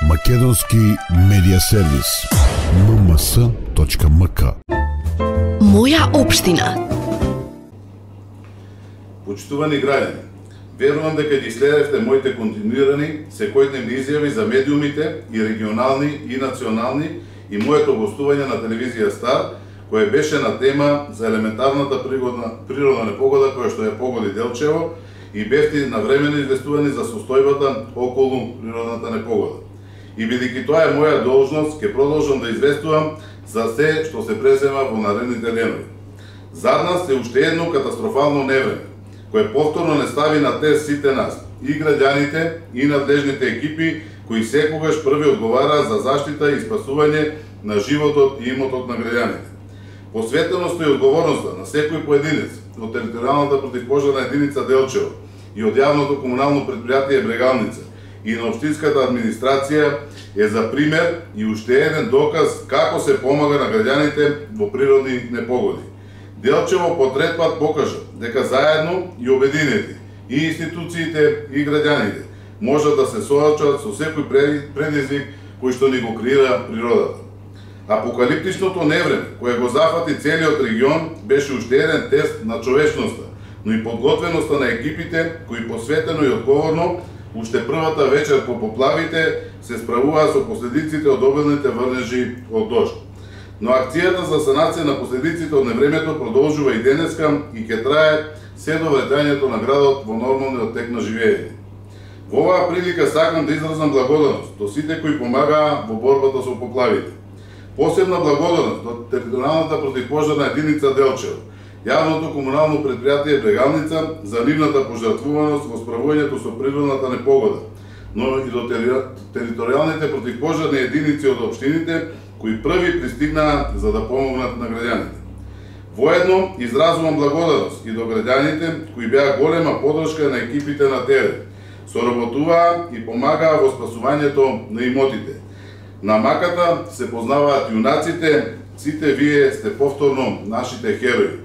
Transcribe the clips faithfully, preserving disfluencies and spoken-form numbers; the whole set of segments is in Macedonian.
Македонски медиа сервис ем ем ес точка ем ка. Моја општина. Почитувани граѓани, верувам дека ги следевте моите континуирани секојдневни изјави за медиумите и регионални и национални и моето гостување на телевизија Стар, кое беше на тема за елементарната природна, природна непогода која што ја погоди Делчево и бевте навремено известувани за состојбата околу природната непогода. И бидејќи тоа е моја должност, ќе продолжам да известувам за се што се презема во наредните денови. Зад нас е уште едно катастрофално невреме, кое повторно не стави на тест сите нас, и граѓаните, и надлежните екипи, кои секогаш први одговараат за заштита и спасување на животот и имотот на граѓаните. Посветеноста и одговорноста на секој поединец од територијалната противпожарна единица Делчево и од јавното комунално предпријатие Брегалница и на општинската администрација е за пример и уште еден доказ како се помага на граѓаните во природни непогоди. Делчево по трет пат покажа дека заедно и обединети и институциите и граѓаните можат да се соочат со секој предизвик кој што ни го креира природата. Апокалиптичното невреме кое го зафати целиот регион беше уште еден тест на човечноста, но и подготвеноста на екипите кои посветено и одговорно уште првата вечер по поплавите се справуваа со последиците од обилните врнежи од дожд. Но акцијата за санација на последиците од невремето продолжува и денеска и ќе трае се до враќањето на градот во нормалниот тек на живење. Во оваа прилика сакам да изразам благодарност до сите кои помагаа во борбата со поплавите. Посебна благодарност до територијалната противпожарна единица Делчево, јавното комунално предпријатие Брегалница за нивната пожртвуваност во справувањето со природната непогода, но и до територијалните противпожарни единици од општините кои први пристигнаа за да помогнат на граѓаните. Воедно изразувам благодарност и до граѓаните кои беа голема подршка на екипите на терен, соработуваа и помагаа во спасувањето на имотите. На маката се познаваат јунаците, сите вие сте повторно нашите херои.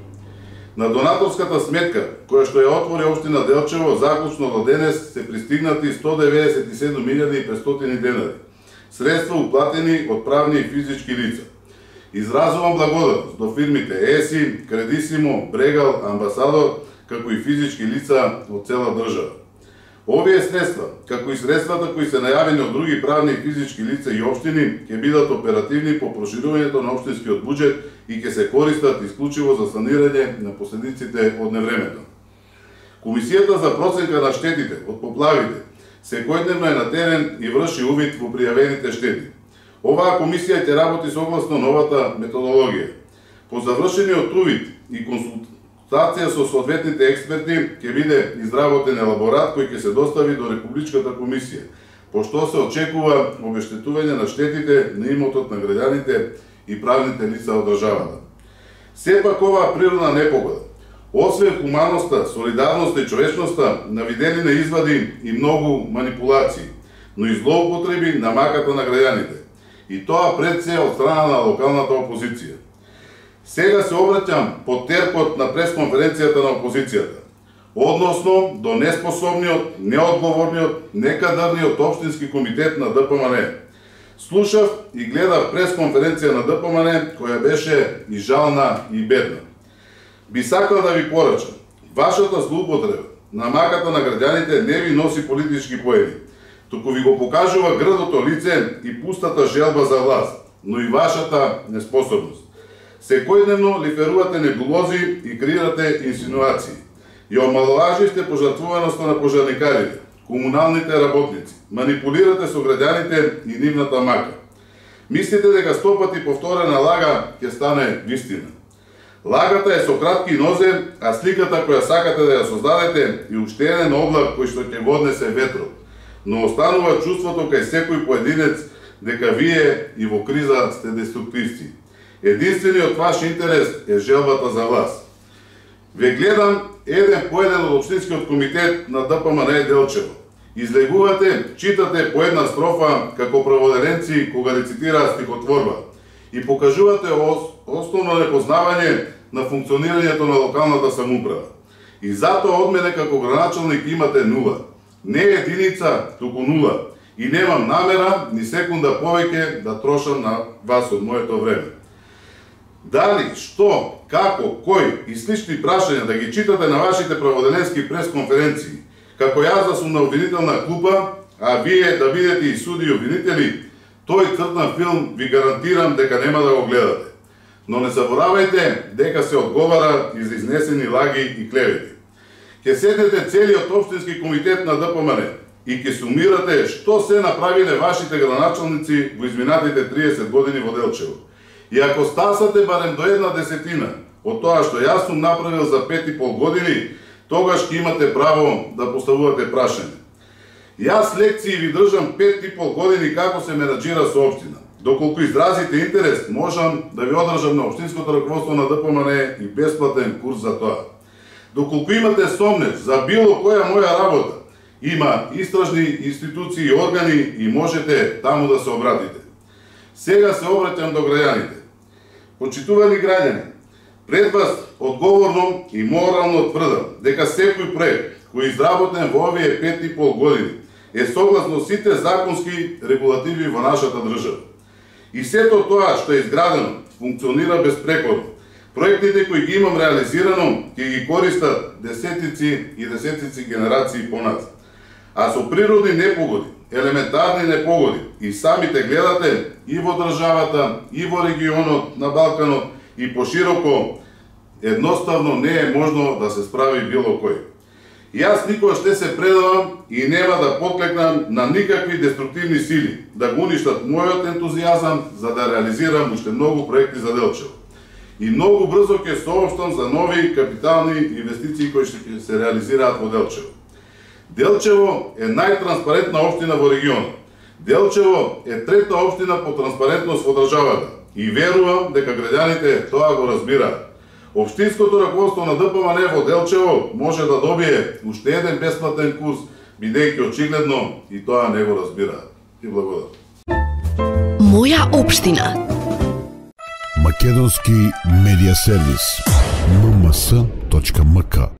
На донаторската сметка, која што ја отвори општина Делчево, заклучно до денес се пристигнати сто деветдесет и седум илјади и петстотини денари. Средства уплатени од правни и физички лица. Изразувам благодарност до фирмите ЕСИ, Кредисимо, Брегал, Амбасадор, како и физички лица од цела држава. Овие средства, како и средствата кои се најавени од други правни и физички лица и општини, ќе бидат оперативни по проширувањето на општинскиот буџет и ќе се користат исклучиво за санирање на последиците од невремето. Комисијата за проценка на штетите од поплавите секојдневно е на терен и врши увид во пријавените штети. Оваа комисија ќе работи согласно новата методологија. По завршениот увид и консултација со соодветните експерти ќе биде изработен елаборат кој ќе се достави до Републичката комисија, пошто се очекува обештетување на штетите на имотот на граѓаните и правните лица од државата. Сепак оваа природна непогода, освен хуманоста, солидарноста и човечноста, навидени на извади и многу манипулации, но и злоупотреби на маката на граѓаните. И тоа пред се од страна на локалната опозиција. Сега се обраќам под терпот на пресконференцијата на опозицијата, односно до неспособниот, неодговорниот, некадарниот општински комитет на Д П М Н. Слушав и гледав пресконференција на Д П М Н која беше и жална и бедна. Би сакал да ви порачам, вашата злоупотреба на маката на граѓаните не ви носи политички поени, туку ви го покажува грдото лице и пустата желба за власт, но и вашата неспособност. Секојдневно лиферувате небулози и креирате инсинуации. И омаловажите пожртвуваноста на пожарникарите, комуналните работници, манипулирате со граѓаните и нивната мака. Мислите дека сто пати повторена лага ќе стане вистина. Лагата е со кратки нозе, а сликата која сакате да ја создадете е уште еден облак кој што ќе го однесе ветрот. Но останува чувството кај секој поединец дека вие и во криза сте деструктивци. Единствениот ваш интерес е желбата за власт. Ве гледам еден по еден од општинскиот комитет на Д П М Н Делчево. Излегувате, читате по една строфа како праводеренци кога рецитираат стихотворба и покажувате основно непознавање на функционирањето на локалната самоуправа. И затоа од мене како граначалник имате нула. Не единица, туку нула. и немам намера ни секунда повеќе да трошам на вас од моето време. Дали, што, како, кој и слични прашања да ги читате на вашите праводеленски пресконференции, како јас да сум на обвинителна клупа, а вие да бидете и суди и обвинители, тој цртан филм ви гарантирам дека нема да го гледате. Но не заборавајте дека се одговара и за изнесени лаги и клевети. Ќе седнете целиот општински комитет на Д П М Н и ќе сумирате што се направиле вашите градоначалници во изминатите триесет години во Делчево. И ако стасате барем до една десетина од тоа што јас сум направил за пет и пол години, тогаш ќе имате право да поставувате прашање. Јас лекции ви држам пет и пол години како се менаџира со општина. Доколку изразите интерес, можам да ви одржам на општинското раководство на Д П М Н и бесплатен курс за тоа. Доколку имате сомнеж за било која моја работа, има истражни институции и органи и можете таму да се обратите. Сега се обраќам до граѓаните. Почитувани граѓани, пред вас одговорно и морално тврдам дека секој проект кој изработен во овие пет и пол години е согласно сите законски регулативи во нашата држава. И сето тоа што е изградено функционира безпрекорно. Проектите кои ги имам реализирано ќе ги користат десетици и десетици генерации поназад. А со природни непогоди, елементарни непогоди и самите гледате и во државата, и во регионот на Балканот и пошироко, едноставно не е можно да се справи било кој. Јас никогаш не се предавам и нема да поклекнам на никакви деструктивни сили да го уништат мојот ентузијазам за да реализирам уште многу проекти за Делчево. И многу брзо ќе соопштам за нови капитални инвестиции кои ќе се реализираат во Делчево. Делчево е најтранспарентна општина во регионот. Делчево е трета општина по транспарентност во државата и верувам дека граѓаните тоа го разбираат. Општинското раководство на Д П М Н во Делчево може да добие уште еден бесплатен курс, бидејќи очигледно и тоа не го разбираат. И благодарам. Моја општина. Македонски медиа сервис. ем ем ес точка ем ка